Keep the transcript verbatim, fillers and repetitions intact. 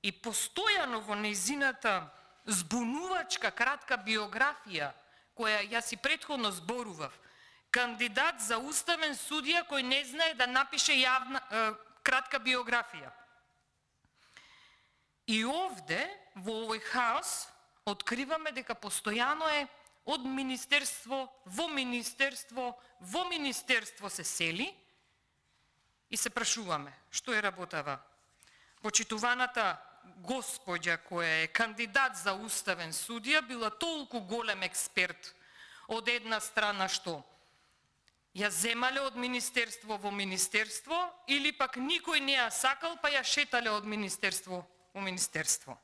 И постојано во нејзината збунувачка кратка биографија, која јас и претходно зборував, кандидат за уставен судија кој не знае да напише јавна, е, кратка биографија. И овде, во овој хаос, откриваме дека постојано е од министерство во министерство, во министерство се сели и се прашуваме, што е работава? Почитуваната господја која е кандидат за уставен судија била толку голем експерт од една страна што ја земале од министерство во министерство или пак никој не ја сакал па ја шетале од министерство во министерство.